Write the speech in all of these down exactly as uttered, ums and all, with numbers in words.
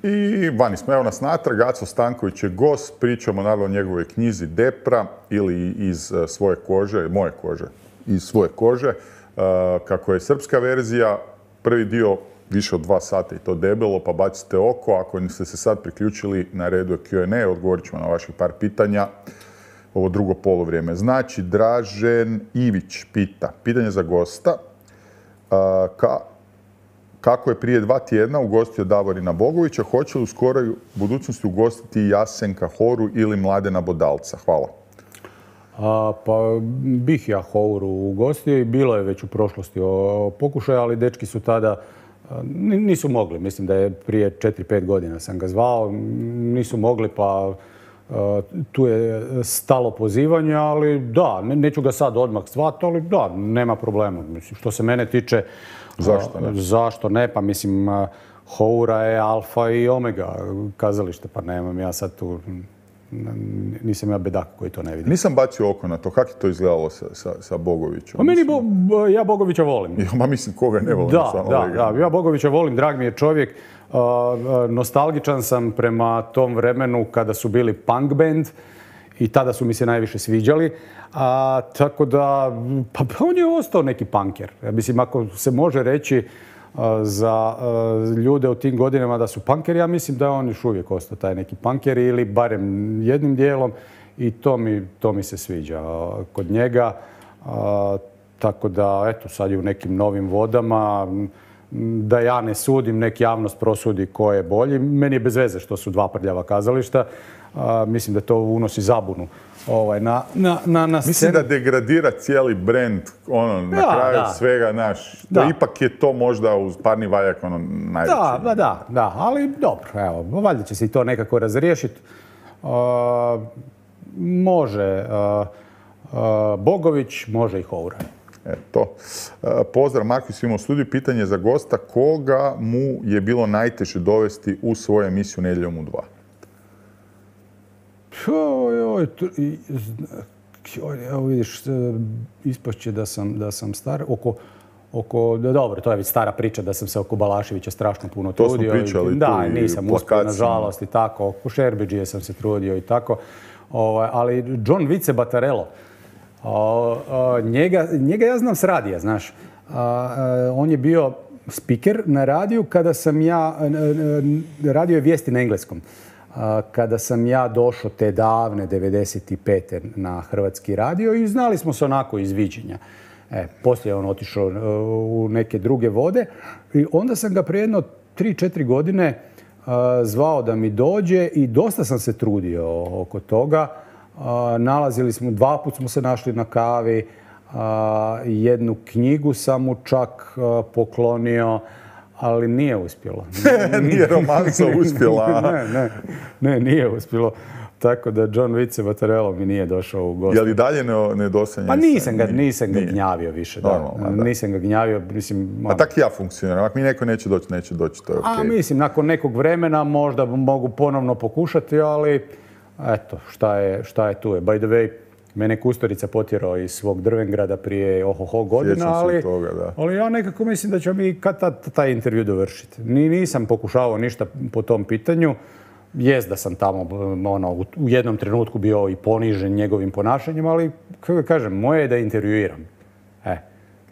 I vani smo, evo nas natrag, Aco Stanković je gost, pričamo naravno o njegovoj knjizi Depra ili iz svoje kože, moje kože, iz svoje kože, kako je srpska verzija, prvi dio više od dva sata i to debelo, pa bacite oko. Ako ste se sad priključili, na redu je Q and A, odgovorit ćemo na vaših par pitanja. Ovo drugo polovrijeme. Znači, Dražen Ivić pita, pitanje za gosta, ka, kako je prije dva tjedna ugostio Davorina Bogovića, hoće li u skoroj budućnosti ugostiti Jasenka Horu ili Mladena Bodalca? Hvala. A, pa bih ja Houru ugostio i bilo je već u prošlosti o pokušaju, ali dečki su tada nisu mogli. Mislim da je prije četiri pet godina sam ga zvao. Nisu mogli, pa tu je stalo pozivanje, ali da, neću ga sad odmah zvati, ali da, nema problema. Mislim, što se mene tiče, zašto ne? Zašto ne? Pa mislim, Houra je alfa i omega kazalište, pa nemam ja sad tu... Nisam ja bedak koji to ne vidi. Nisam bacio oko na to. Kako je to izgledalo sa, sa, sa Bogovićem? A meni bo, bo, ja Bogovića volim. Ja, ma mislim, koga ne volim. Da, da, da, ja Bogovića volim, drag mi je čovjek. Uh, nostalgičan sam prema tom vremenu kada su bili punk band i tada su mi se najviše sviđali. A, tako da, pa on je ostao neki punker. Ja mislim, ako se može reći za ljude u tim godinama da su punkeri, ja mislim da je on još uvijek ostao taj neki punker ili barem jednim dijelom i to mi, to mi se sviđa kod njega. Tako da, eto, sad je u nekim novim vodama. Da ja ne sudim, nek javnost prosudi ko je bolji. Meni je bez veze što su dva prljava kazališta. Mislim da to unosi zabunu. Ovaj, na, na, na, na Mislim da degradira cijeli brand, ono, na da, kraju da. svega, naš, da. Da ipak je to možda uz parni valjak, ono, najveći. Da, da, da, da, ali dobro, evo, valjda će se i to nekako razriješiti. Uh, može uh, uh, Bogović, može i Houra. Eto. Uh, pozdrav, Markus, imamo u studiju. Pitanje za gosta, koga mu je bilo najteže dovesti u svoju emisiju Nedjeljom u dva? Oj, oj, oj, evo vidiš, ispašće da sam, da sam star. Oko, oko, dobro, to je već stara priča da sam se oko Balaševića strašno puno to trudio. To smo pričali i, da, tu i nisam uspio, nažalost, i tako. Oko Šerbeđije sam se trudio i tako. O, ali John Vice Batarello, o, o, njega, njega ja znam s radija, znaš. A, a, on je bio speaker na radiju kada sam ja, radio je vijesti na engleskom. Kada sam ja došao te davne devedeset pete na Hrvatski radio i znali smo se onako iz viđenja. E, poslije je on otišao u neke druge vode i onda sam ga prije jedno tri četiri godine zvao da mi dođe i dosta sam se trudio oko toga. Nalazili smo, dva put smo se našli na kavi, jednu knjigu sam mu čak poklonio, ali nije uspjelo. Nije romansa uspjela. ne, ne, ne, nije uspjelo. Tako da John Vice Batarello mi nije došao u gostu. Je li dalje nedosanjanje? Pa nisam ga, nisam ga gnjavio više. Da. Normalno, da. Nisam ga gnjavio. Mislim, a tak ja funkcioniram. Ako mi neko neće doći, neće doći. To je okay. A mislim, nakon nekog vremena možda mogu ponovno pokušati, ali eto, šta je, šta je tu je. By the way, mene Kusturica potjerao iz svog Drvengrada prije ohoho godina, ali, toga, da. ali ja nekako mislim da ćemo mi kad tad taj intervju dovršiti. Ni, nisam pokušavao ništa po tom pitanju. Jest da sam tamo ono, u jednom trenutku bio i ponižen njegovim ponašanjem, ali kako kažem, moje je da intervjuiram. E,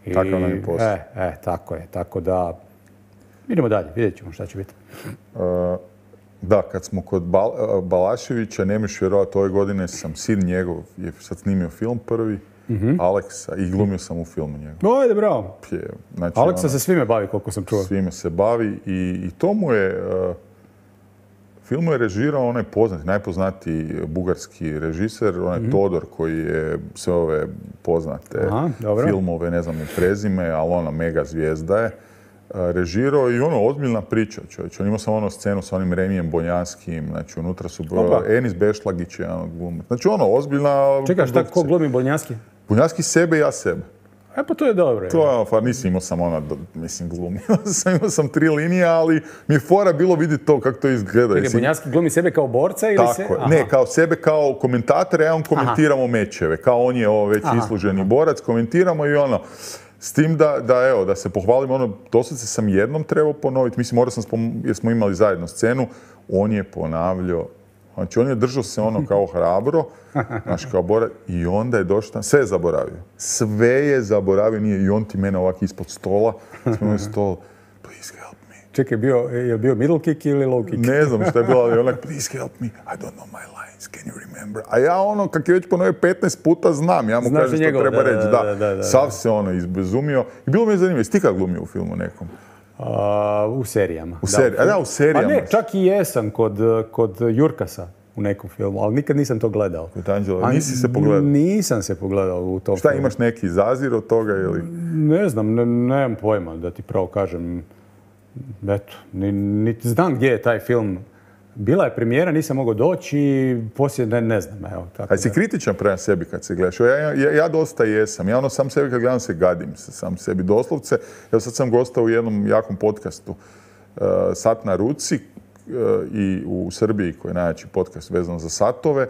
i, tako nam je posao. E, e, tako je. Tako da, idemo dalje, vidjet ćemo šta će biti. Uh, Da, kad smo kod Bal Balaševića, nemaš vjerovati, ove godine sam sin njegov, je sad snimio film prvi, mm-hmm. Aleksa, i glumio sam u filmu njegov. Ojde, bravo. Je, znači, Aleksa ono, se svime bavi, koliko sam čuo. Svime se bavi i, i to mu je, uh, film je režirao onaj poznati, najpoznatiji bugarski režiser, onaj mm-hmm. Todor, koji je sve ove poznate Aha, filmove, ne znam, prezime, ali ona mega zvijezda je. Režirao i ono, ozbiljna priča, čovječ. On imao sam ono scenu sa onim Remijem Bonjanskim, znači unutra su Opa. Enis Bešlagić je ono glumac. Znači ono, ozbiljna... Čekaj, šta, ko glumi Bonjanski? Bonjanski sebe i ja sebe. E pa to je dobro. To je ono, pa nisam imao sam ono, mislim, glumio sam, imao sam tri linije, ali mi je fora bilo vidjeti to, kako to izgleda. Čekaj, Bonjanski glumi sebe kao borca ili tako se... Tako ne, kao sebe kao komentator, ja on komentiramo Aha. mečeve. Kao on je ovo već Aha. isluženi Aha. borac, komentiramo i ono... S tim da, da, evo, da se pohvalim, ono, doslovce sam jednom trebao ponoviti, mislim, morao sam, spom... jer smo imali zajedno scenu, on je ponavljao, znači on je držao se ono kao hrabro, znaš, kao Bora, i onda je došao tam, sve je zaboravio. Sve je zaboravio, nije, i on ti mene ovak ispod stola, smo imali stol, please help me. Čekaj, bio, je bio middle kick ili low kick? Ne znam što je bilo, ali onak, please help me, I don't know my lines, can you remember? A ja ono, kak je već ponovio petnaest puta, znam, ja mu Znaš kažem što njegov, treba da, reći, da, da, da, da, da. Sav se ono izbezumio. I bilo mi je zanimljivo, jesi ti kad glumio u filmu nekom? Uh, u serijama. U seri... da, A da, u serijama. Pa ne, čak i jesam kod, kod Jurkasa u nekom filmu, ali nikad nisam to gledao. Kod Anđela, nisi se pogledao? Nisam se pogledao u tom Šta, filmu. imaš neki zazir od toga ili? Ne znam, ne, nemam pojma da ti pravo kažem. Eto, ni, niti znam gdje je taj film. Bila je premijera, nisam mogao doći i poslije ne, ne znam. Evo, tako A si da. kritičan prema sebi kad se gledaš? Ja, ja, ja dosta jesam. Ja ono sam sebi kad gledam se gadim se sam sebi doslovce. Evo sad sam gostao u jednom jakom podcastu uh, Sat na ruci uh, i u Srbiji koji je najjači podcast vezan za satove.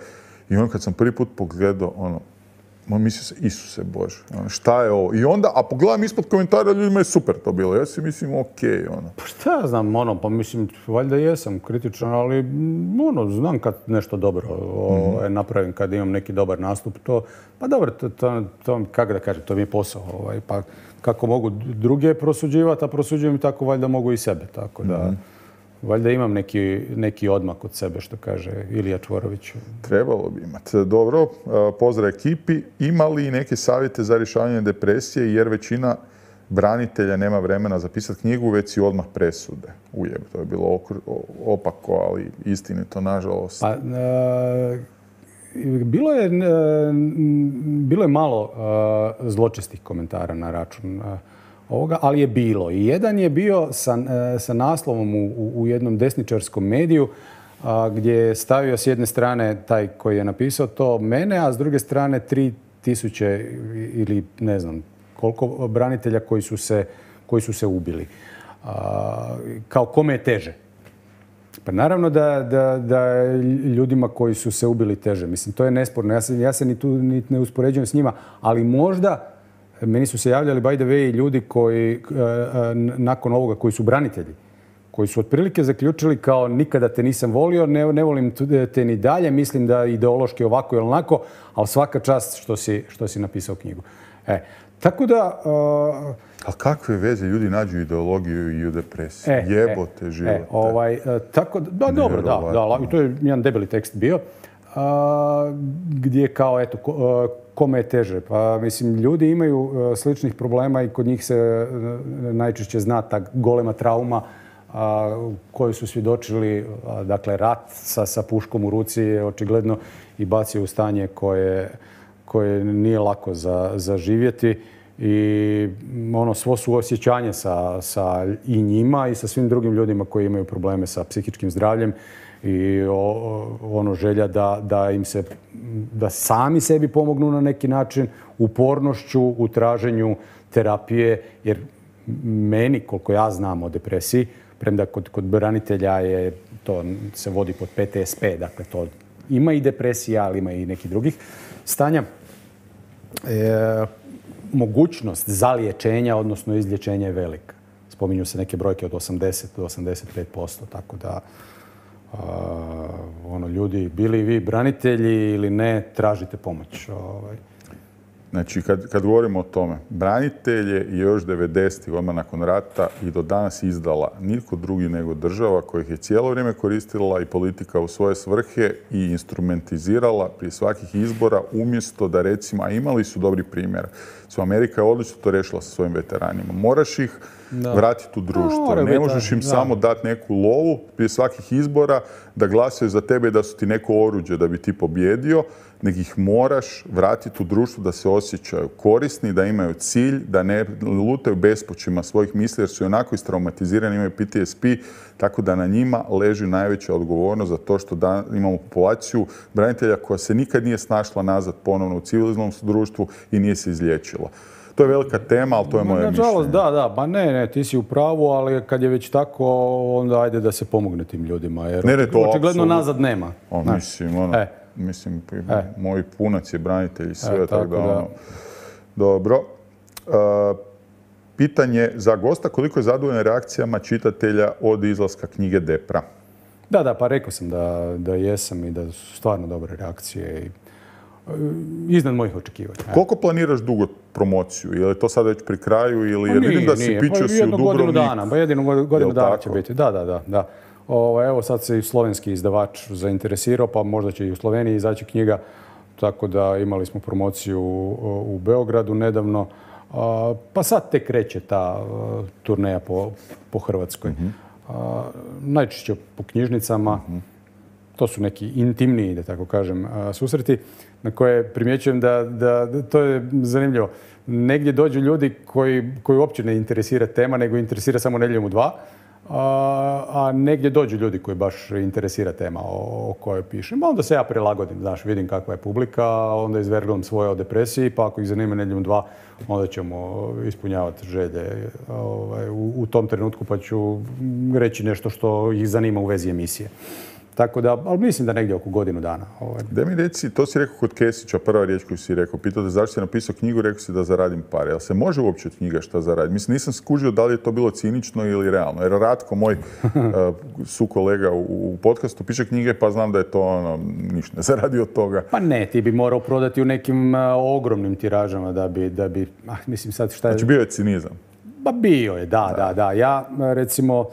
I on kad sam prvi put pogledao, ono, on mislio se, Isuse Bože, ono, šta je ovo? I onda, a pogledam ispod komentara, ljudima je super to bilo. Ja si mislim, okej, ono. Pa šta ja znam, ono, pa mislim, valjda jesam kritičan, ali mm, ono, znam kad nešto dobro o, Mhm. napravim, kad imam neki dobar nastup, to, pa dobro, to, to, to kako da kažem, to mi je posao, ovaj, pa kako mogu druge prosuđivati, a prosuđujem tako valjda mogu i sebe, tako da, Mhm. valjda imam neki, neki odmak od sebe, što kaže Ilija Čvorović. Trebalo bi imati. Dobro, uh, pozdrav ekipi. Ima li neke savjete za rješavanje depresije, jer većina branitelja nema vremena zapisati knjigu, već si odmah presude. Ujeb, to je bilo okr- opako, ali istinito, nažalost. Pa, e, bilo je, e, bilo je malo e, zločestih komentara na račun e, ovoga, ali je bilo. I jedan je bio sa, e, sa naslovom u, u, u jednom desničarskom mediju a, gdje je stavio s jedne strane taj koji je napisao to mene, a s druge strane tri tisuće ili ne znam koliko branitelja koji su se, koji su se ubili. A, kao kome je teže? Pa naravno da, da, da ljudima koji su se ubili teže. Mislim, to je nesporno. Ja se, ja se ni tu ni ne uspoređujem s njima, ali možda meni su se javljali by the way ljudi koji nakon ovoga koji su branitelji, koji su otprilike zaključili kao nikada te nisam volio, ne, ne volim te ni dalje, mislim da ideološki ovako ili onako, ali svaka čast što si, što si napisao knjigu. E, tako da... Uh, A kakve veze ljudi nađu ideologiju i u depresiji? E, Jebote e, živote. E, ovaj, e, tako da, da dobro, da, da, i to je jedan debeli tekst bio, a, gdje kao, eto, ko, a, kome je teže. Pa, mislim, ljudi imaju a, sličnih problema i kod njih se a, najčešće zna ta golema trauma a, koju su svjedočili, a, dakle, rat sa, sa puškom u ruci je očigledno i bacio u stanje koje, koje nije lako za, za živjeti. I ono, svo suosjećanje sa, sa i njima i sa svim drugim ljudima koji imaju probleme sa psihičkim zdravljem i o, ono želja da, da im se, da sami sebi pomognu na neki način upornošću u traženju terapije, jer meni, koliko ja znam o depresiji, premda kod, kod branitelja je, to se vodi pod P T S P, dakle to ima i depresija, ali ima i nekih drugih stanja. E, mogućnost zaliječenja, odnosno izlječenja je velika. Spominju se neke brojke od osamdeset do osamdeset pet posto, tako da uh, ono, ljudi, bili vi branitelji ili ne, tražite pomoć. Ovaj. Znači, kad, kad govorimo o tome, branitelje je još devedesetih odmah nakon rata i do danas izdala nitko drugi nego država koja ih je cijelo vrijeme koristila i politika u svoje svrhe i instrumentizirala prije svakih izbora umjesto da recimo, a imali su dobri primjera. Su Amerika je odlično to rešila sa svojim veteranima. Moraš ih da. vratiti u društvo. Ne možeš im da. samo dati neku lovu prije svakih izbora da glasaju za tebe i da su ti neko oruđe da bi ti pobjedio, nego ih moraš vratiti u društvo da se osjećaju korisni, da imaju cilj, da ne lutaju bespućima svojih misli jer su onako istraumatizirani, imaju P T S P, tako da na njima leži najveća odgovornost za to što da, imamo populaciju branitelja koja se nikad nije snašla nazad ponovno u civilizmom društvu i nije se izliječila. To je velika tema, ali to je moje mišljenje. Da, da, pa ne, ne, ti si u pravu, ali kad je već tako, onda ajde da se pomogne tim ljudima, jer ne, ne, to očigledno apsolutno nazad nema. O, mislim, ono, e. mislim, e. moj punac je branitelj i sve, e, tako, tako da, ono, dobro. Uh, pitanje za gosta, koliko je zadovoljan reakcijama čitatelja od izlaska knjige Depra? Da, da, pa rekao sam da, da jesam i da su stvarno dobre reakcije i iznad mojih očekivanja. Koliko planiraš dugo promociju? Je li to sad već pri kraju ili jer vidim da si pičio si u Dubrovnik? Godinu dana, pa jedinu godinu dana će biti. Da, da, da. da. O, evo sad se i slovenski izdavač zainteresirao, pa možda će i u Sloveniji izaći knjiga. Tako da imali smo promociju u, u Beogradu nedavno. A, pa sad tek kreće ta a, turneja po, po Hrvatskoj. Uh-huh. a, najčešće po knjižnicama. Uh-huh. To su neki intimniji, da tako kažem, a, susreti na koje primjećujem da, da, da to je zanimljivo. Negdje dođu ljudi koji, koji uopće ne interesira tema, nego interesira samo Nedjeljom u dva. A, a negdje dođu ljudi koji baš interesira tema o, o kojoj pišem. Onda se ja prilagodim, znaš, vidim kakva je publika, onda izverglam svoje o depresiji, pa ako ih zanima Nedjeljom dva, onda ćemo ispunjavati želje ovaj, u, u tom trenutku, pa ću reći nešto što ih zanima u vezi emisije. Tako da, ali mislim da negdje oko godinu dana. Ovaj. Da mi reci, to si rekao kod Kesića, prva riječ koju si rekao, pitao te zašto si napisao knjigu, rekao si da zaradim pare. Jel se može uopće od knjiga šta zaraditi? Mislim, nisam skužio da li je to bilo cinično ili realno. Jer Ratko, moj uh, sukolega u, u podcastu, piše knjige, pa znam da je to ono, ništa ne zaradi od toga. Pa ne, ti bi morao prodati u nekim uh, ogromnim tiražama da bi, da bi, ah, mislim sad šta je... Znači bio je cinizam. Pa bio je, da, da, da. da. Ja, recimo,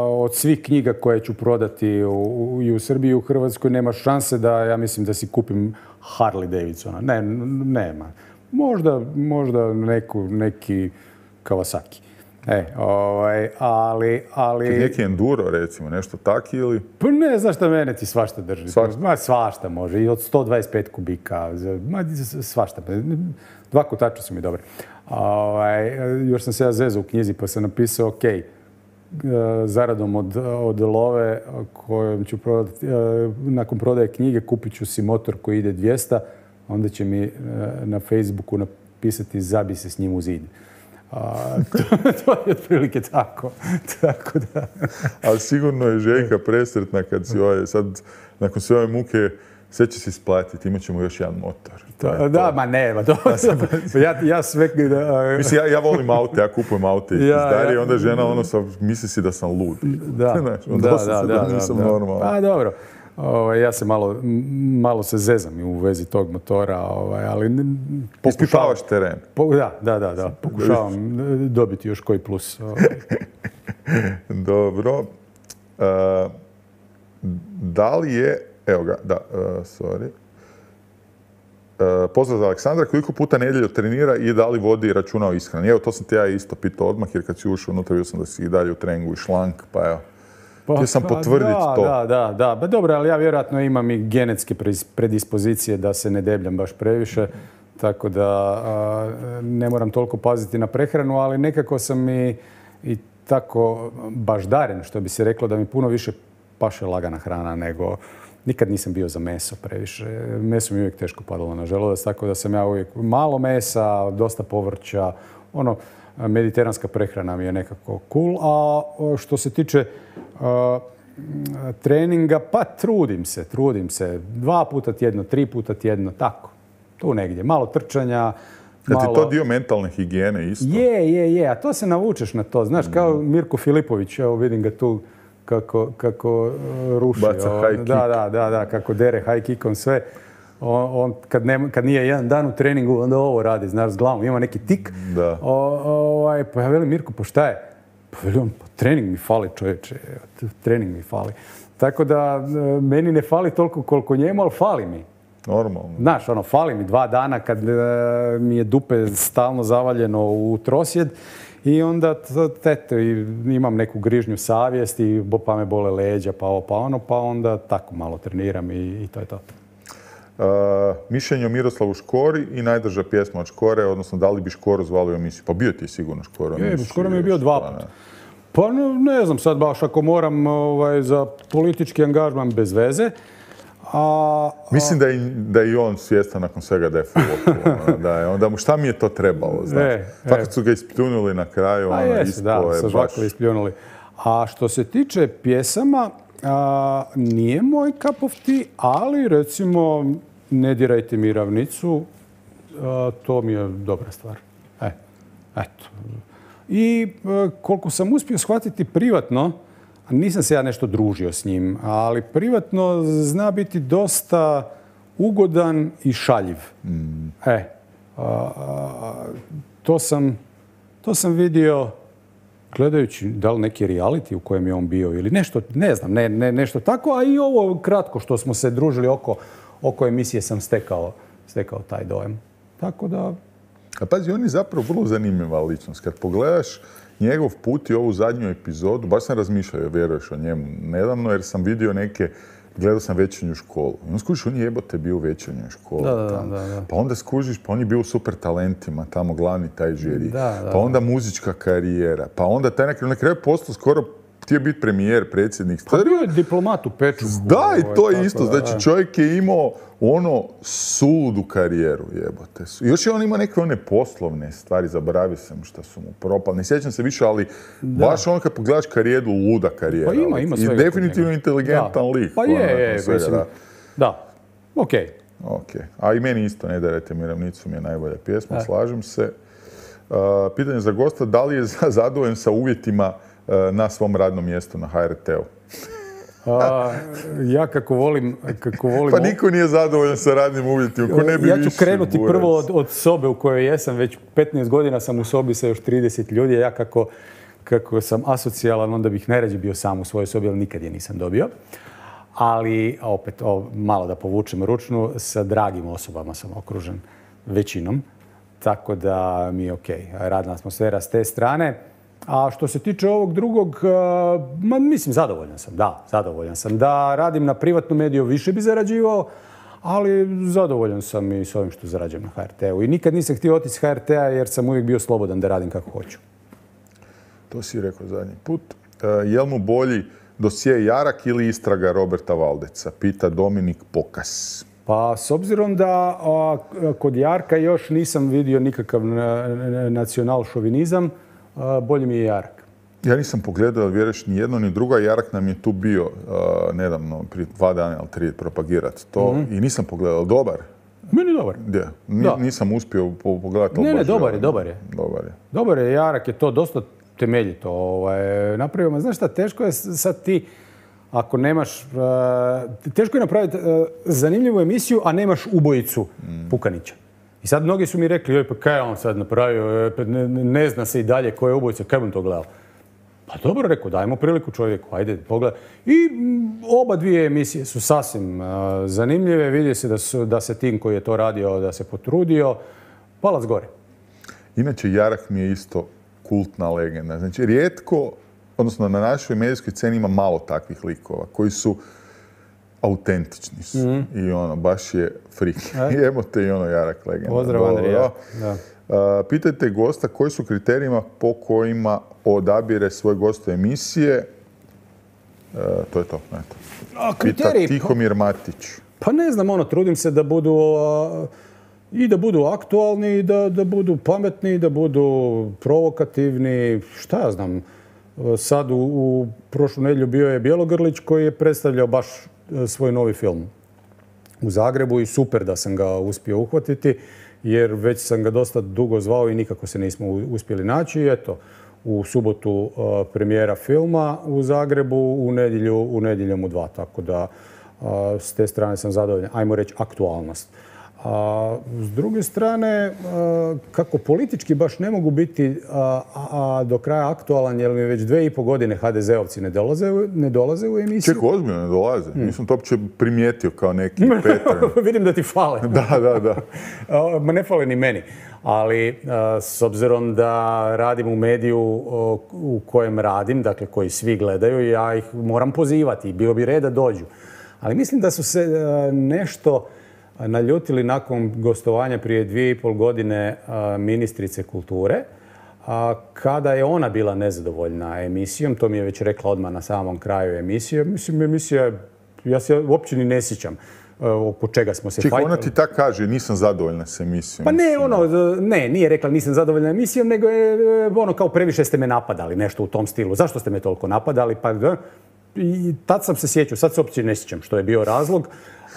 od svih knjiga koje ću prodati u, u, i u Srbiji i u Hrvatskoj nema šanse da, ja mislim, da si kupim Harley Davidsona. Ne, nema. Možda, možda neku, neki Kawasaki. E, ovaj, ali, ali... Neki enduro, recimo, nešto taki ili... Pa ne, znaš šta, mene ti svašta drži. Svašta? Ma, svašta može. I od sto dvadeset pet kubika. Ma, svašta. Dva kotača su mi dobre. Ovaj, još sam se ja zezao u knjizi pa sam napisao, ok, zaradom od, od love kojom ću prodati, nakon prodaje knjige kupit ću si motor koji ide dvjesto, onda će mi na Facebooku napisati zabi se s njim u zid. A, to, to je otprilike tako. tako da. Ali sigurno je Željka presretna kad si ovaj, sad, nakon sve ove muke, sve će se isplatiti, imat ćemo još jedan motor. Da, da, ma ne, ma to, ja, ja sve... Da, mislim, ja, ja volim aute, ja kupujem aute iz ja, Darije, ja, onda žena ono sa, misli si da sam lud. Da, Znaš, da, da, da, da, nisam da. normalan. Pa dobro, ovaj, ja se malo, malo se zezam u vezi tog motora, ovaj, ali... Ispitavaš teren. Po, da, da, da, da, pokušavam dobiti još koji plus. Ovaj. Dobro. Uh, da li je... Evo ga, da, uh, sorry. Uh, pozdrav za Aleksandra, koliko puta nedjelju trenira i da li vodi računa o ishrani? Evo, to sam te ja isto pitao odmah, jer kad si ušao unutra, vidio sam da si i dalje u treningu i šlank, pa evo. Pa, htio sam potvrditi da, to. Da, da, da. Ba, dobro, ali ja vjerojatno imam i genetske predispozicije da se ne debljam baš previše, tako da a, ne moram toliko paziti na prehranu, ali nekako sam i, i tako baždaren, što bi se reklo, da mi puno više paše lagana hrana nego... Nikad nisam bio za meso previše. Meso mi uvijek teško padalo na želudac, tako da sam ja uvijek malo mesa, dosta povrća. Ono, mediteranska prehrana mi je nekako cool. A što se tiče uh, treninga, pa trudim se, trudim se. Dva puta tjedno, tri puta tjedno, tako. Tu negdje. Malo trčanja. Malo... Je to dio mentalne higijene isto? Je, je, je. A to se navučeš na to. Znaš, kao Mirko Filipović, evo vidim ga tu kako, kako ruši. Baca high kick. Da, da, da, da, kako dere high kickom sve. On, on kad, ne, kad nije jedan dan u treningu, onda ovo radi, znaš, s glavom. Ima neki tik. Da. O, ovaj, pa ja velim, Mirko, pa šta je? Pa velim, pa trening mi fali, čovječe. Trening mi fali. Tako da, meni ne fali toliko koliko njemu, ali fali mi. Normalno. Znaš, ono, fali mi dva dana kad mi je dupe stalno zavaljeno u trosjed. I onda eto, imam neku grižnju savjesti, pa me bole leđa, pa ovo, pa ono, pa onda tako malo treniram i, i to je to. Uh, mišljenje o Miroslavu Škori i najdraža pjesma od Škore, odnosno da li bi Škoru zvali u emisiju? Pa bio ti je sigurno Škoro. Je, Škoro mi je bio dva puta. Pa ne, ne znam sad baš ako moram ovaj, za politički angažman bez veze. A, a... Mislim da je, da je i on svjestan nakon svega da je full. Da je, onda mu šta mi je to trebalo, znaš? E, Tako e. su ga ispljunuli na kraju. A ono, jesu, da, je sa žvakom ispljunuli. A što se tiče pjesama, a, nije moj cup of tea, ali recimo Ne dirajte mi ravnicu, a, to mi je dobra stvar. E, eto. i koliko sam uspio shvatiti privatno, nisam se ja nešto družio s njim, ali privatno zna biti dosta ugodan i šaljiv. Mm. E, a, a, to sam, to sam vidio gledajući da li neki reality u kojem je on bio ili nešto, ne znam, ne, ne, nešto tako, a i ovo kratko što smo se družili oko, oko emisije sam stekao, stekao taj dojam. Tako da... A pazi, on je zapravo vrlo zanimljiva ličnost. Kad pogledaš njegov put i ovu zadnju epizodu, baš sam razmišljao, vjeruješ o njemu nedavno, jer sam vidio neke, gledao sam Večernju školu. I on skužiš, on je jebote bio u Večernjoj školi. Da, da, da, da. Pa onda skužiš, pa on je bio u Super talentima, tamo glavni taj žiri. Da, da, pa onda muzička karijera. Pa onda taj na kraju postao skoro htio biti premijer, predsjednik. Pa bio je diplomat u Pečuhu. Da, i to je isto. Znači, čovjek je imao ono suludu karijeru, jebote. Još je on imao neke one poslovne stvari, zaboravio sam šta su mu propali. Ne sjećam se više, ali da. Baš on kad pogledaš karijeru, luda karijera. Pa ima, ima i definitivno inteligentan da. lik. Pa je, je, svega, mislim. Da, da. okej. Okay. Okay. A i meni isto, Ne darajte mi ravnicu mi je najbolja pjesma, da. Slažem se. Uh, pitanje za gosta, da li je zadovoljan sa uvjetima uh, na svom radnom mjestu na H R T-u? A, ja kako volim... Kako volim pa niko nije zadovoljan sa radnim uvjetima. Ko ne bi ja ću više krenuti burac. prvo od, od sobe u kojoj jesam. Već petnaest godina sam u sobi sa još trideset ljudi. Ja kako, kako sam asocijalan, onda bih najrađe bio sam u svojoj sobi, ali nikad je nisam dobio. Ali, opet, o, malo da povučem ručnu, sa dragim osobama sam okružen većinom. Tako da mi je okej. Okay. Radna atmosfera s te strane. A što se tiče ovog drugog, ma, mislim, zadovoljan sam, da, zadovoljan sam. Da radim na privatnom mediju, više bi zarađivao, ali zadovoljan sam i s ovim što zarađujem na H R T-u. I nikad nisam htio otići s H R T-a jer sam uvijek bio slobodan da radim kako hoću. To si rekao zadnji put. Je li mu bolji dosije Jarak ili istraga Roberta Valdeca? Pita Dominik Pokas. Pa, s obzirom da a, kod Jarka još nisam vidio nikakav nacional šovinizam, bolje mi je Jarak. Ja nisam pogledao, ali vjeruješ, ni jedno ni drugo. Jarak nam je tu bio uh, nedavno, prije dva dana ili tri, propagirati to. Mm-hmm. I nisam pogledao. Dobar? Meni dobar. Gdje? Ni, da. Nisam uspio pogledati. Ne, ne, dobar je, dobar je. Dobar je. Dobar je, Jarak je to dosta temeljito ovaj, napravio. Ma znaš šta, teško je sad ti, ako nemaš... Uh, teško je napraviti uh, zanimljivu emisiju, a nemaš ubojicu mm. Pukanića. I sad mnogi su mi rekli, joj, pa kaj je on sad napravio, ne, ne zna se i dalje ko je ubojica, kaj bi to gledao? Pa dobro, rekao, dajmo priliku čovjeku, ajde, pogledaj. I oba dvije emisije su sasvim uh, zanimljive, vidi se da, su, da se tim koji je to radio, da se potrudio, palac gore. Inače, Jarak mi je isto kultna legenda. Znači, rijetko, odnosno na našoj medijskoj sceni ima malo takvih likova koji su autentični su. Mm-hmm. I ono, baš je frik. Jebote i ono Jarak legenda. Pozdrav, Andrija. Da. Uh, pitajte gosta koji su kriterijima po kojima odabire svoj gost u emisije. Uh, to je to. Eto. A, kriteriji? Pita Tihomir Matić. Pa ne znam, ono, trudim se da budu uh, i da budu aktualni, i da, da budu pametni, da budu provokativni. Šta ja znam. Sad u, u prošlu nedjelju bio je Bjelogrlić koji je predstavljao baš svoj novi film u Zagrebu i super da sam ga uspio uhvatiti jer već sam ga dosta dugo zvao i nikako se nismo uspjeli naći. I eto, u subotu uh, premijera filma u Zagrebu, u nedjelju, u nedjeljom u dva. Tako da uh, s te strane sam zadovoljan. Ajmo reći aktualnost. A s druge strane, kako politički baš ne mogu biti a, a, do kraja aktualan, jer mi već dve i po godine ha de zeovci ne dolaze, ne dolaze u emisiju. Čekaj, ozbiljno ne dolaze. Hmm. Nisam to uopće primijetio kao neki Petar. Vidim da ti fale. Da, da, da. Ma ne fale ni meni. Ali a, s obzirom da radim u mediju o, u kojem radim, dakle koji svi gledaju, ja ih moram pozivati. Bilo bi red da dođu. Ali mislim da su se a, nešto naljutili nakon gostovanja prije dvije i pol godine ministrice kulture, kada je ona bila nezadovoljna emisijom. To mi je već rekla odmah na samom kraju emisije. Mislim, emisija, ja se uopće ni ne sjećam oko čega smo se fajtali. Čekaj, ona ti tako kaže, nisam zadovoljna s emisijom. Pa ne, ono, ne, nije rekla nisam zadovoljna emisijom, nego je ono kao previše ste me napadali, nešto u tom stilu. Zašto ste me toliko napadali? Pa, i tad sam se sjećao, sad se uopće ne sjećam što je bio razlog.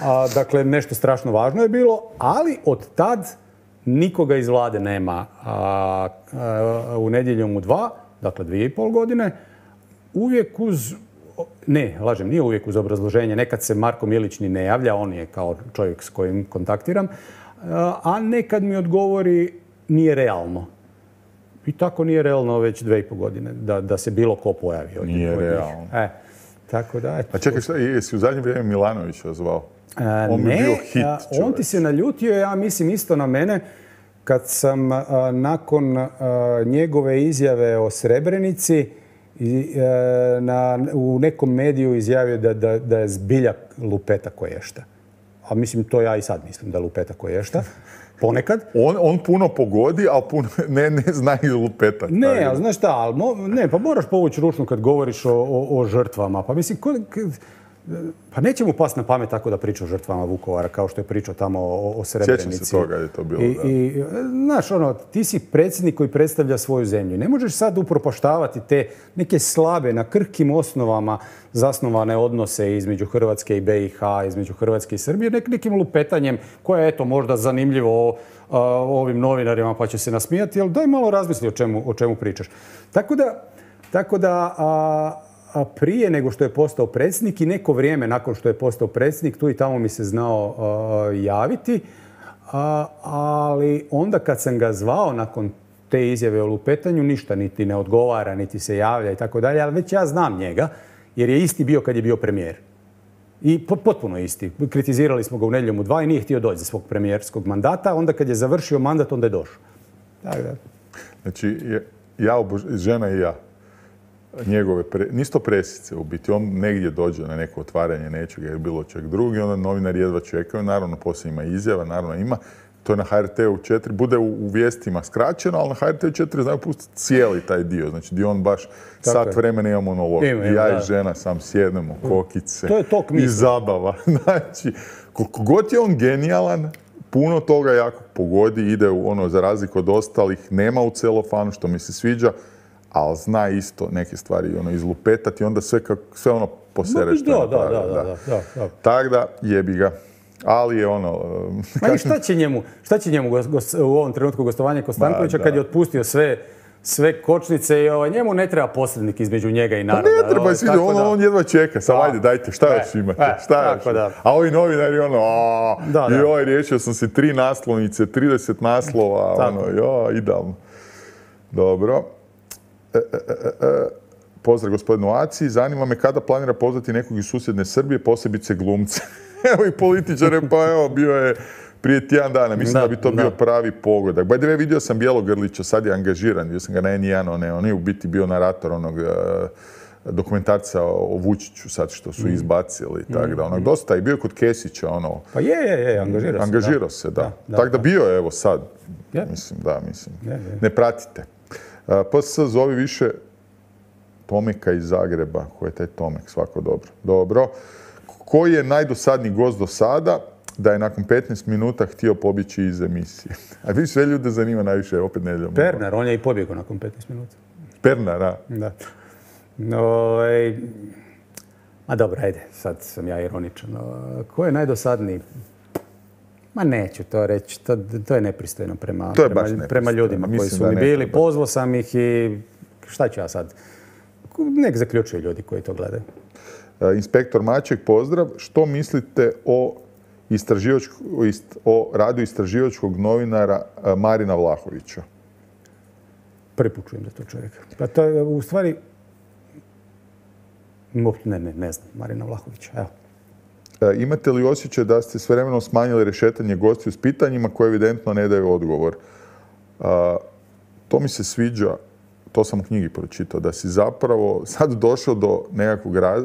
A, dakle, nešto strašno važno je bilo, ali od tad nikoga iz vlade nema a, a, u Nedjeljom u dva, dakle dvije i pol godine, uvijek uz, ne, lažem, nije uvijek uz obrazloženje, nekad se Marko Milić ni ne javlja, on je kao čovjek s kojim kontaktiram, a nekad mi odgovori nije realno. I tako nije realno već dve i pol godine da, da se bilo ko pojavi. Nije realno. E, tako da, eto. A čekaj, šta, jesi u zadnje vrijeme Milanovića zvao? A, on ne, bi bio hit, a, on ti se naljutio, ja mislim isto na mene, kad sam a, nakon a, njegove izjave o Srebrenici i, a, na, u nekom mediju izjavio da, da, da je zbilja lupeta koješta. A mislim, to ja i sad mislim da je lupeta koješta. Ponekad. On, on puno pogodi, ali puno ne, ne zna i lupeta. Ne, ali znaš šta, ali mo, ne, pa moraš povući ručnu kad govoriš o, o, o žrtvama. Pa mislim, ko, k, pa neće mu pasti na pamet tako da priča o žrtvama Vukovara, kao što je pričao tamo o, o Srebrenici. Sjećam se toga je to bilo, I, da. I, znaš, ono, ti si predsjednik koji predstavlja svoju zemlju. Ne možeš sad upropaštavati te neke slabe, na krhkim osnovama zasnovane odnose između Hrvatske i be i ha, između Hrvatske i Srbije, nek, nekim lupetanjem koje je, eto, možda zanimljivo o, o ovim novinarima pa će se nasmijati, ali daj malo razmisli o čemu, o čemu pričaš. Tako da, tako da a, a prije nego što je postao predsjednik i neko vrijeme nakon što je postao predsjednik, tu i tamo mi se znao a, javiti, a, ali onda kad sam ga zvao nakon te izjave o lupetanju, ništa niti ne odgovara, niti se javlja i tako dalje, ali već ja znam njega, jer je isti bio kad je bio premijer. I potpuno isti. Kritizirali smo ga u Nedjeljom u dva i nije htio doći za svog premijerskog mandata. Onda kad je završio mandat, onda je došao. Tako da. Znači, ja, obož... žena i ja, njegove, pre... nisto presice u biti. On negdje dođe na neko otvaranje nečega ili bilo čeg drugi, onda novinari jedva čekaju. Naravno, poslije ima izjava, naravno ima. To je na ha er te u četiri, bude u, u vijestima skraćeno, ali na ha er te u četiri znaju pustiti cijeli taj dio. Znači, gdje on baš tako sat je. Vremena ima monolog. Ima, ima, ja da. I žena sam sjednemo, kokice to je tok misli. I zabava. Znači, koliko god je on genijalan, puno toga jako pogodi, ide u ono, za razliku od ostalih, nema u celofanu, što mi se sviđa, ali zna isto neke stvari ono, izlupetati, onda sve, kako, sve ono posere što da, da, da, da, da, da. Tako da, jebi ga. Ali je ono... Ma i šta će njemu, šta će njemu gos, u ovom trenutku gostovanje Kostankovića kad je otpustio sve, sve kočnice i ovaj, njemu ne treba posrednik između njega i naroda. Pa ne treba, sviđa, on, on jedva čeka. Sad ajde, dajte, šta još imate? E, šta još? Da. A ovi novinari ono, a, da, da. joj, riješio sam si tri naslovnice, trideset naslova, tako. Ono, joj, idealno. Dobro. E, e, e, e. Pozdrav gospodinu Aci. Zanima me kada planira pozvati nekog iz susjedne Srbije, posebice glumce. Evo i političare, pa evo, bio je prije tjedan dana. Mislim da, da bi to da. bio pravi pogodak. By the way, vidio sam Bjelogrlića, sad je angažiran. Vidio sam ga na en jedan, on je, on je u biti bio narator onog uh, dokumentarca o Vučiću sad što su mm. izbacili. Mm. Tako da, onog, dosta je bio kod Kesića, ono... Pa je, je, je, angažirao se. Angažirao se, da. da, da tako da bio je, evo sad. Je. Mislim, da, mislim. Je, je. Ne pratite. Uh, P S zove više Tomeka iz Zagreba. Ko je taj Tomek? Svako dobro. Dobro. Koji je najdosadniji gost do sada da je nakon petnaest minuta htio pobjeći iz emisije? A vi sve ljude zanima najviše, opet Nedjeljom. Pernar, on je i pobjegao nakon petnaest minuta. Pernar, a? Da. No, ej, a dobro, ajde, sad sam ja ironičan. Ko je najdosadniji? Ma neću to reći, to, to je nepristojno prema, to je prema, prema ljudima koji su mi bili. Pozvao sam ih i šta ću ja sad? Nek zaključuju ljudi koji to gledaju. Inspektor Maček, pozdrav. Što mislite o, o radu istraživačkog novinara Marina Vlahovića? Prvi put čujem za to čovjeka. Pa to je u stvari... Ne, ne, ne znam, Marina Vlahovića. Evo. Imate li osjećaj da ste s vremenom smanjili rešetanje gostiju s pitanjima koje evidentno ne daju odgovor? To mi se sviđa. To sam u knjigi pročitao, da si zapravo sad došao do nekakvog raz,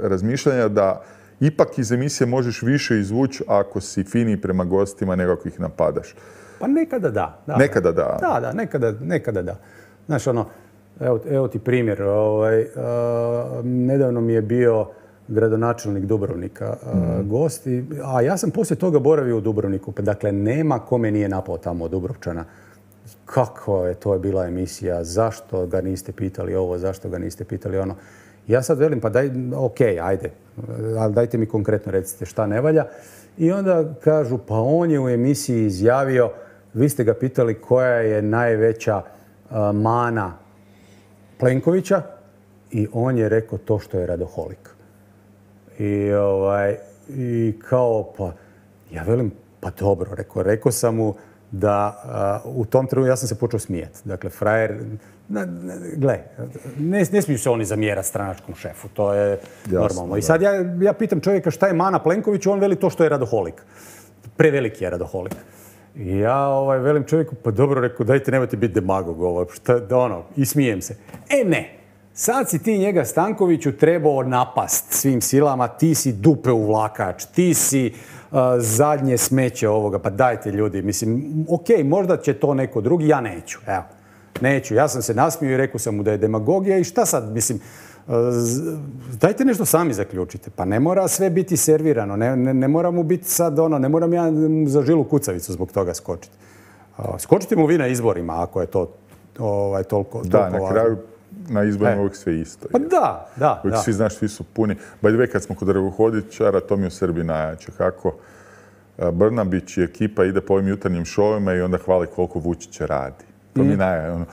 razmišljanja da ipak iz emisije možeš više izvući ako si finiji prema gostima nego ako ih napadaš. Pa nekada da. da. Nekada da. Da, da, nekada, nekada da. Znaš, ono, evo, evo ti primjer. Ovaj, uh, nedavno mi je bio gradonačelnik Dubrovnika uh, mm. gost, i, a ja sam poslije toga boravio u Dubrovniku. Dakle, nema kome nije napao tamo od Dubrovčana. Kako je to je bila emisija, zašto ga niste pitali ovo, zašto ga niste pitali ono. Ja sad velim, pa daj, ok, ajde, ali dajte mi konkretno recite šta ne valja. I onda kažu, pa on je u emisiji izjavio vi ste ga pitali koja je najveća uh, mana Plenkovića i on je rekao to što je radoholik. I, ovaj, i kao, pa, ja velim, pa dobro, rekao, rekao sam mu da uh, u tom trenutku ja sam se počeo smijeti. Dakle, frajer, na, na, gle, ne, ne smiju se oni zamjerati stranačkom šefu, to je jasno, normalno. I sad ja, ja pitam čovjeka šta je mana Plenkoviću, on veli to što je radoholik. Preveliki je radoholik. I ja ovaj, velim čovjeku, pa dobro, rekao, dajte, nemojte biti demagog, ovaj, šta, ono, i smijem se. E ne, sad si ti njega Stankoviću trebao napast svim silama, ti si dupe uvlakač, ti si uh, zadnje smeće ovoga, pa dajte ljudi, mislim, ok, možda će to neko drugi, ja neću, evo, neću. Ja sam se nasmio i rekao sam mu da je demagogija i šta sad, mislim, uh, dajte nešto sami zaključite, pa ne mora sve biti servirano, ne, ne, ne mora mu biti sad ono, ne moram ja za žilu kucavicu zbog toga skočiti. Uh, skočite mu vi na izborima ako je to ovaj, toliko, toliko da, na kraju na izborima uvijek sve isto. Pa da, da. Uvijek da. svi, znaš, svi su puni. By the way, kad smo kod Drvohodičara, to mi u Srbiji najjače. Kako Brnabić i ekipa ide po ovim jutarnjim šovima i onda hvali koliko Vučić radi. To mm. mi najjače. Ono,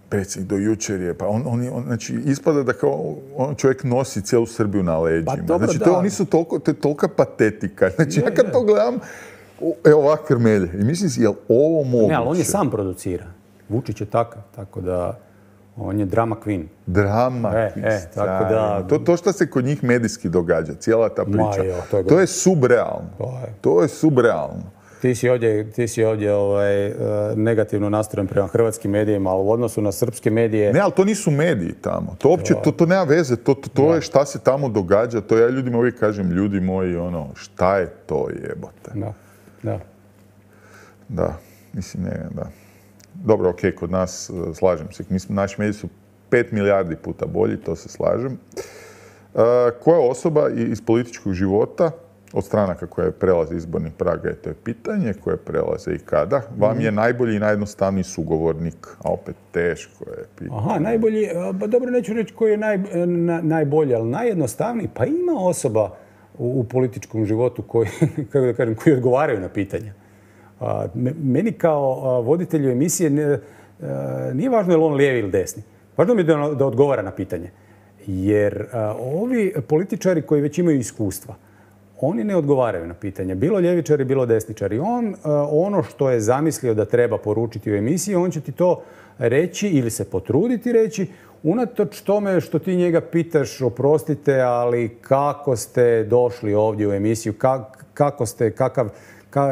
predsjednik do jučer je, pa on, on, on, znači, ispada da kao on čovjek nosi cijelu Srbiju na leđima. Pa dobro, znači, da. to, oni su toliko, to je tolika patetika. Znači, je, ja kad je. to gledam, evo ovak krmelje. I mislim, je li ovo moguće? Ne, ali on je sam producira. Vučić je takav, tako da on je drama queen. Drama e, queen. E, tako da... To, to što se kod njih medijski događa, cijela ta priča, jo, to, je to je subrealno. To je, to je subrealno. Ti si ovdje, ti si ovdje ovaj, negativno nastrojen prema hrvatskim medijima, ali u odnosu na srpske medije... Ne, ali to nisu mediji tamo. To uopće, to, to nema veze. To, to, to je šta se tamo događa. To ja ljudima uvijek kažem, ljudi moji, ono, šta je to jebote? Da, da. Da, mislim, ne, da. Dobro, ok, kod nas, slažem se. Mislim, naši mediji su pet milijardi puta bolji, to se slažem. Uh, koja osoba iz političkog života, od stranaka koje prelaze izbornih praga, to je pitanje, koje prelaze i kada, vam je najbolji i najjednostavniji sugovornik, a opet teško je pitanje. Aha, najbolji, ba dobro, neću reći koji je naj, na, najbolji, ali najjednostavniji, pa ima osoba u, u političkom životu koji, kako da kažem, koji odgovaraju na pitanja. A, meni kao a, voditelju emisije ne, a, nije važno je li on lijevi ili desni. Važno mi je da, da odgovara na pitanje. Jer a, ovi političari koji već imaju iskustva, oni ne odgovaraju na pitanje. Bilo ljevičari, bilo desničari. On a, ono što je zamislio da treba poručiti u emisiji, on će ti to reći ili se potruditi reći, unatoč tome što ti njega pitaš, oprostite, ali kako ste došli ovdje u emisiju, kak, kako ste, kakav...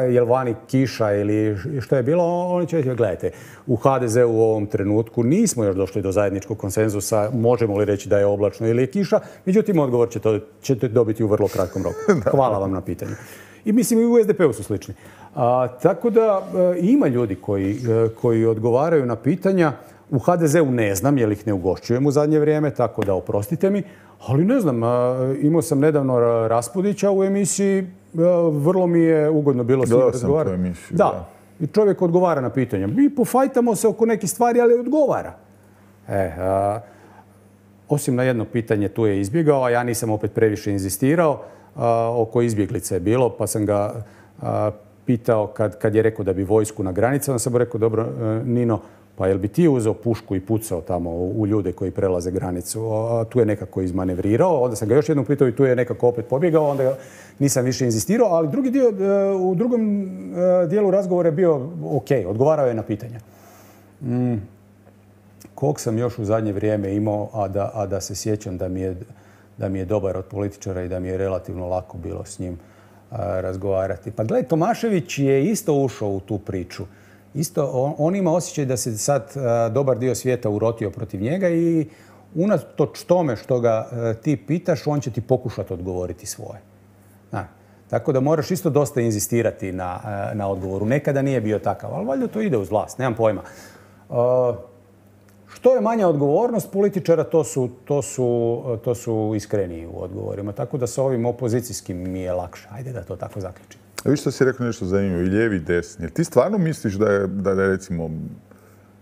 je li vani kiša ili što je bilo, oni će reći, gledajte, u ha de zeu u ovom trenutku nismo još došli do zajedničkog konsenzusa, možemo li reći da je oblačno ili je kiša, međutim, odgovor će to, ćete dobiti u vrlo kratkom roku. Hvala vam na pitanju. I mislim, i u es de pe u su slični. A, tako da e, ima ljudi koji, e, koji odgovaraju na pitanja. U ha de zeu ne znam, jer ih ne ugošćujem u zadnje vrijeme, tako da oprostite mi. Ali ne znam, imao sam nedavno Raspudića u emisiji, vrlo mi je ugodno bilo s njim razgovarati. Emisiju, da. da, i čovjek odgovara na pitanja. Mi pofajtamo se oko nekih stvari, ali odgovara. E, a, osim na jedno pitanje tu je izbjegao, a ja nisam opet previše inzistirao. A, oko izbjeglice je bilo, pa sam ga a, pitao kad, kad je rekao da bi vojsku na granici. Onda sam mu rekao, dobro, Nino, pa jel bi ti uzeo pušku i pucao tamo u ljude koji prelaze granicu? A tu je nekako izmanevrirao, onda sam ga još jednom pitao i tu je nekako opet pobjegao, onda nisam više inzistirao, ali drugi dio, u drugom dijelu razgovora je bio ok, odgovarao je na pitanja. Mm. Kog sam još u zadnje vrijeme imao, a da, a da se sjećam da mi, je, da mi je dobar od političara i da mi je relativno lako bilo s njim a, razgovarati. Pa gledaj, Tomašević je isto ušao u tu priču. Isto, on, on ima osjećaj da se sad a, dobar dio svijeta urotio protiv njega i unatoč tome što ga a, ti pitaš, on će ti pokušati odgovoriti svoje. A, tako da moraš isto dosta inzistirati na, a, na odgovoru. Nekada nije bio takav, ali valjda to ide uz vlast, nemam pojma. A, što je manja odgovornost političara, to su, to su, to su iskreniji u odgovorima. Tako da sa ovim opozicijskim mi je lakše. Ajde da to tako zaključim. A vi što si rekao nešto zanimljivo, i lijevi i desni. Jer ti stvarno misliš da je, da je recimo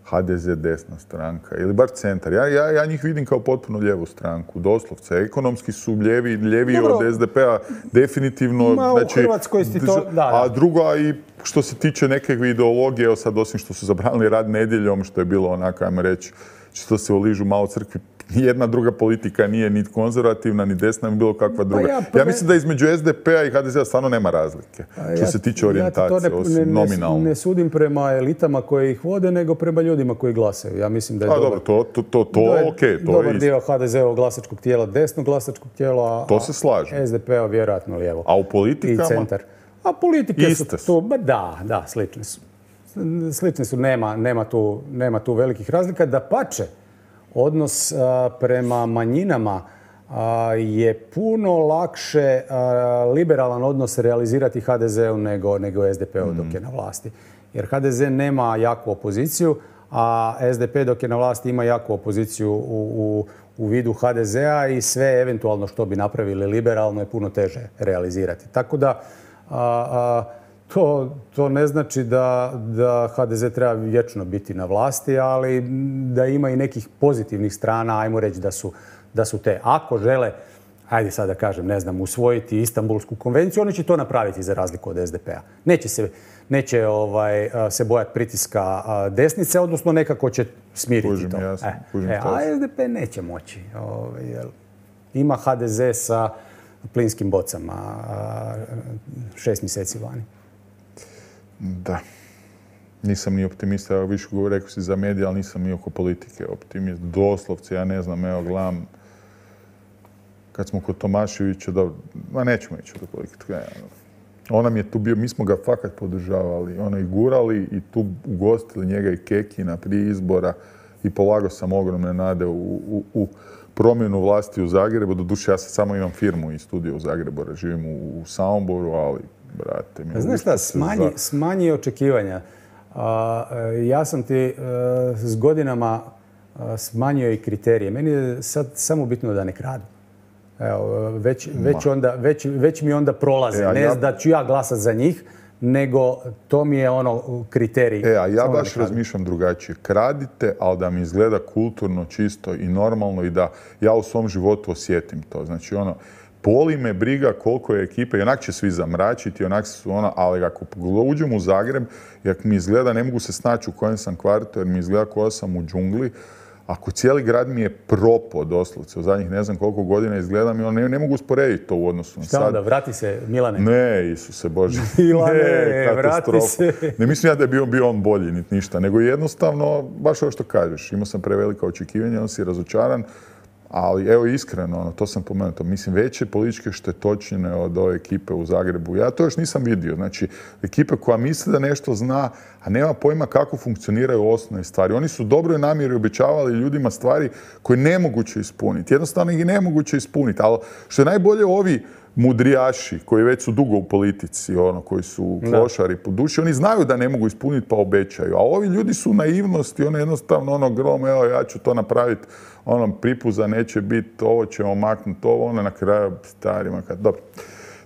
ha de ze desna stranka ili bar centar. Ja, ja, ja njih vidim kao potpuno lijevu stranku, doslovce. Ekonomski su ljevi, ljevi od es de pe-a definitivno. Ma, znači, u Hrvatskoj si to... Da, da. A drugo, i što se tiče nekakve ideologije, evo sad osim što su zabranili rad nedjeljom, što je bilo onako, ajmo reći, što se uližu malo crkvi, nijedna druga politika nije ni konzervativna, ni desna, ni bilo kakva druga. Pa ja, prve... ja mislim da između es de pe-a i ha de ze-a stvarno nema razlike, ja, što se tiče orijentacije, ja osim ne, nominalno. Ne sudim prema elitama koje ih vode, nego prema ljudima koji glasaju. Ja mislim da je a, dobar, dobro, to, to, to, to, je, okay, to dobar je dio ha de ze-ovog glasačkog tijela, desnog glasačkog tijela, a to se slažem. es de pe-a vjerojatno lijevo. A u politikama? I centar. A politike iste su tu, ba da, da, slične su. Slične su, nema, nema, tu, nema tu velikih razlika. Dapače, odnos a, prema manjinama a, je puno lakše a, liberalan odnos realizirati ha de ze-u nego, nego es de pe-u dok je na vlasti. Jer ha de ze nema jaku opoziciju, a es de pe dok je na vlasti ima jaku opoziciju u, u, u vidu ha de ze-a i sve eventualno što bi napravili liberalno je puno teže realizirati. Tako da a, a, To, to ne znači da, da ha de ze treba vječno biti na vlasti, ali da ima i nekih pozitivnih strana, ajmo reći da su, da su te. Ako žele, ajde sad da kažem, ne znam, usvojiti Istanbulsku konvenciju, oni će to napraviti za razliku od es de pe-a. Neće se, neće ovaj, se bojati pritiska desnice, odnosno nekako će smiriti kužim, to. Jasno, e, kužim e, a es de pe neće moći. Ovaj, jer ima ha de ze sa plinskim bocama šest mjeseci vani. Da. Nisam ni optimista, evo više govori, rekao si za medije, ali nisam ni oko politike optimist. Doslovce, ja ne znam, evo gledam, kad smo kod Tomaševića, da, ma nećemo ići do politike. On nam je tu bio, mi smo ga fakat podržavali, ono i gurali i tu ugostili njega i Kekina prije izbora i polagao sam ogromne nade u, u, u promjenu vlasti u Zagrebu. Doduše, ja sad samo imam firmu i studio u Zagrebu, živim u, u Samoboru, ali brate, mi znaš šta, smanji, za... smanji očekivanja. A, ja sam ti a, s godinama a, smanjio i kriterije. Meni je sad samo bitno da ne kradu. Evo, već, već, onda, već, već mi onda prolaze. E, ne ja... da ću ja glasati za njih, nego to mi je ono kriterij. E, a ja baš razmišljam drugačije. Kradite, ali da mi izgleda kulturno, čisto i normalno i da ja u svom životu osjetim to. Znači, ono, boli me briga koliko je ekipe, i onak će svi zamračiti, onak su ono, ali ako uđem u Zagreb, jak mi izgleda, ne mogu se snaći u kojem sam kvartu, jer mi izgleda koja sam u džungli, ako cijeli grad mi je propao doslovce, u zadnjih ne znam koliko godina izgledam i ono, ne, ne mogu usporediti to u odnosu na sad. Šta onda, vrati se Milane? Ne, Isuse Bože. Milane, ne, vrati se. Ne mislim ja da je bio, bio on bolji, niti ništa, nego jednostavno, baš ovo što kažeš, imao sam prevelika očekivanja, on si razočaran. Ali evo iskreno, ono, to sam pomenuo, mislim veće političke štetočine od ove ekipe u Zagrebu. Ja to još nisam vidio. Znači, ekipa koja misli da nešto zna, a nema pojma kako funkcioniraju osnovne stvari. Oni su dobro i namjeri obećavali ljudima stvari koje nemoguće ispuniti. Jednostavno ih je nemoguće ispuniti. Ali što je najbolje, ovi mudrijaši koji već su dugo u politici, ono, koji su klošari po duši, oni znaju da ne mogu ispuniti pa obećaju. A ovi ljudi su naivnosti, ono jednostavno ono grom, evo ja ću to napraviti, ono pripuza neće biti, ovo ćemo maknuti, ovo, ono na kraju starima. Kad, dobro,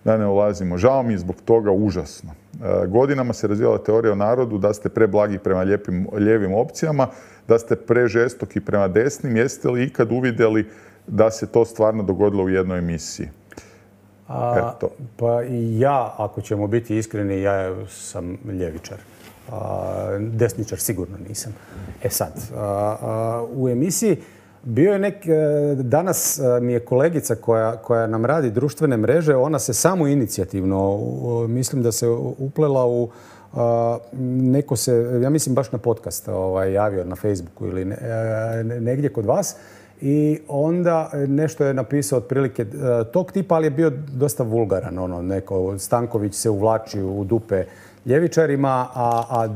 da ne ulazimo. Žao mi je zbog toga užasno. E, godinama se razvijala teorija o narodu da ste preblagi prema lijepim, lijevim opcijama, da ste prežestoki prema desnim. Jeste li ikad uvidjeli da se to stvarno dogodilo u jednoj emisiji? A, pa i ja, ako ćemo biti iskreni, ja sam ljevičar. A, desničar sigurno nisam. E sad, a, a, u emisiji bio je nek... Danas mi je kolegica koja, koja nam radi društvene mreže, ona se samo inicijativno, mislim da se uplela u a, neko se, ja mislim baš na podcast ovaj, javio na Facebooku ili ne, negdje kod vas. I onda nešto je napisao otprilike tog tipa, ali je bio dosta vulgaran. Ono, neko, Stanković se uvlači u dupe ljevičarima, a, a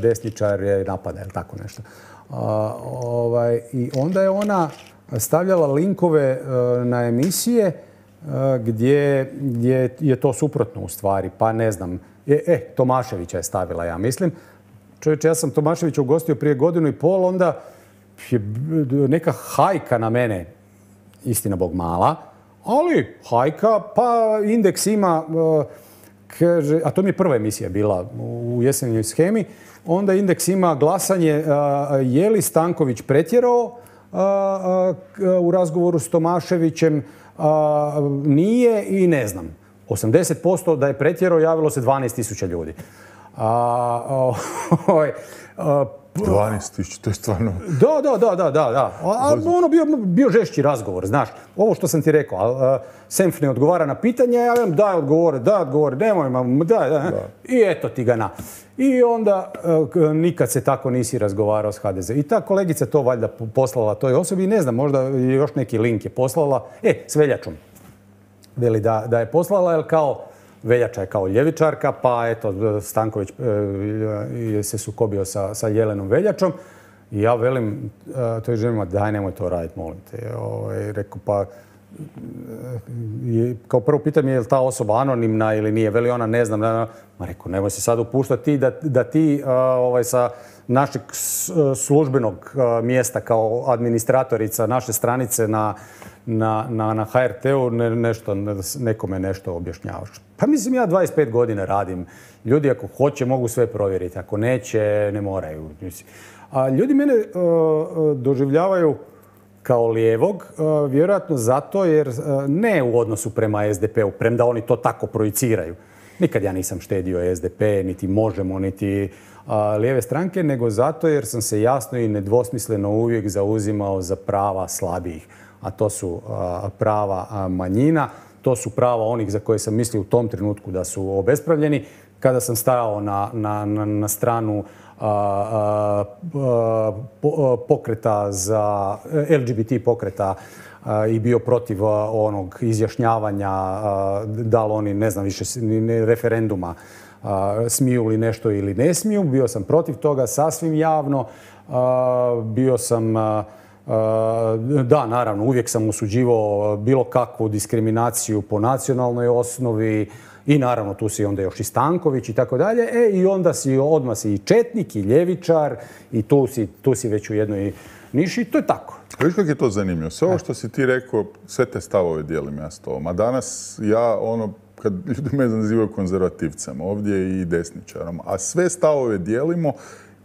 desničar je napada, ili tako nešto. A, ovaj, I onda je ona stavljala linkove na emisije gdje, gdje je to suprotno u stvari. Pa ne znam, e, e Tomaševića je stavila, ja mislim. Čovječe, ja sam Tomaševića ugostio prije godinu i pol, onda je neka hajka na mene, istina Bog mala, ali hajka, pa Indeks ima, kaže, a to mi je prva emisija bila u jesenjoj shemi, onda Indeks ima glasanje je li Stanković pretjerao u razgovoru s Tomaševićem, nije i ne znam. osamdeset posto da je pretjerao, javilo se dvanaest tisuća ljudi. dvanaest tisuća, to je stvarno... Da, da, da, da, da. A ono bio, bio žešći razgovor, znaš. Ovo što sam ti rekao, a, Senf ne odgovara na pitanje, ja vam daj odgovore, daj odgovore, nemoj, daj, daj. I eto ti ga na. I onda nikad se tako nisi razgovarao s ha de ze. I ta kolegica to valjda poslala toj osobi i ne znam, možda još neki link je poslala. E, s Veljačom. Veli da, da je poslala, jer kao Veljača je kao ljevičarka, pa eto, Stanković e, se sukobio sa, sa Jelenom Veljačom. I ja velim e, toj ženima, daj nemoj to raditi, molim te. Ovaj, rekao, pa je, kao prvo pitam je li ta osoba anonimna ili nije. Veli ona, ne znam. Da, ma rekao, nemoj se sad upuštati ti da, da ti a, ovaj, sa našeg službenog a, mjesta kao administratorica naše stranice na, na, na, na ha er te u ne, nešto, nekome nešto objašnjavaš. Pa mislim, ja dvadeset pet godina radim. Ljudi ako hoće mogu sve provjeriti. Ako neće, ne moraju. A ljudi mene a, doživljavaju kao lijevog, vjerojatno zato jer ne u odnosu prema es de pe u, premda oni to tako projiciraju. Nikad ja nisam štedio es de pe, niti Možemo, niti a, lijeve stranke, nego zato jer sam se jasno i nedvosmisleno uvijek zauzimao za prava slabijih. A to su a, prava a, manjina, to su prava onih za koje sam mislio u tom trenutku da su obespravljeni. Kada sam stajao na, na, na, na stranu A, a, a, pokreta za el ge be te pokreta a, i bio protiv a, onog izjašnjavanja a, da li oni, ne znam više, ne, referenduma a, smiju li nešto ili ne smiju. Bio sam protiv toga sasvim javno. A, bio sam, a, a, da, naravno, uvijek sam osuđivao bilo kakvu diskriminaciju po nacionalnoj osnovi. I naravno tu si onda još i Stanković i tako dalje. E, i onda si odmah si i četnik i ljevičar i tu si, tu si već u jednoj niši i to je tako. Viš kako je to zanimljivo? Sve ovo što si ti rekao, sve te stavove dijelim ja s tobom. A danas ja, ono, kad ljudi me nazivaju konzervativcem, ovdje i desničarom, a sve stavove dijelimo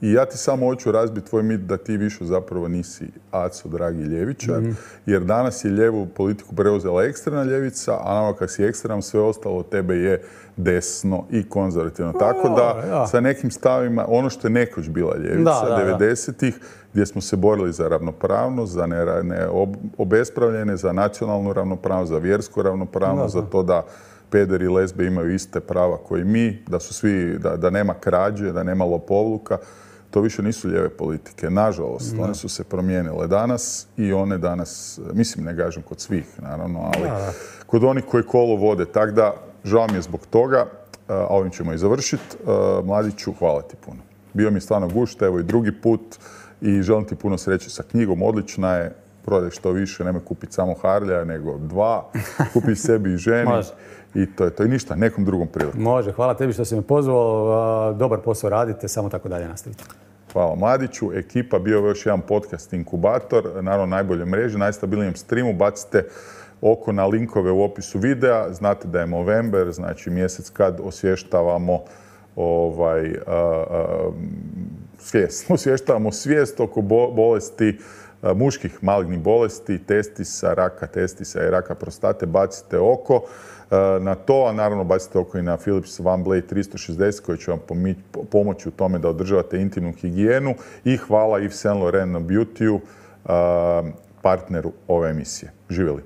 i ja ti samo hoću razbiti tvoj mit da ti više zapravo nisi aco, dragi ljevičar, mm-hmm. jer danas je lijevu politiku preuzela ekstremna ljevica, a nama kak si ekstrem, sve ostalo od tebe je desno i konzervativno. Oh, tako da ja. Sa nekim stavima, ono što je nekoć bila ljevica, devedesetih, gdje smo se borili za ravnopravnost, za ne, ne ob, obespravljene, za nacionalnu ravnopravnost, za vjersku ravnopravnost, da, da. za to da pederi i lesbe imaju iste prava koji mi, da su svi, da, da nema krađe, da nema lopovluka. To više nisu lijeve politike. Nažalost, no. one su se promijenile danas i one danas, mislim, ne kažem kod svih, naravno, ali no. kod onih koji kolo vode. Tako da, žao mi je zbog toga, a ovim ćemo i završiti. Mladiću, hvala ti puno. Bio mi je stvarno gušt, evo i drugi put i želim ti puno sreće sa knjigom. Odlična je, prodaj što više, nemoj kupiti samo Harlija, nego dva. Kupi sebi i ženi. I to je to. I ništa, nekom drugom prilikom. Može, hvala tebi što si me pozvao. Dobar posao radite, samo tako dalje nastavite. Hvala Mladiću. Ekipa, bio je još jedan podcast Inkubator, naravno najbolje mreže, najstabilnijem streamu. Bacite oko na linkove u opisu videa. Znate da je Movember, znači mjesec kad osvještavamo ovaj, a, a, svijest. Osvještavamo svijest oko bo, bolesti, a, muških malignih bolesti, testisa, raka testisa i raka prostate. Bacite oko na to, a naravno bacite oko i na Philips OneBlade tristo šezdeset koji će vam pomoći u tome da održavate intimnu higijenu. I hvala Yves Saint Laurent Beauty-u, partneru ove emisije. Živjeli!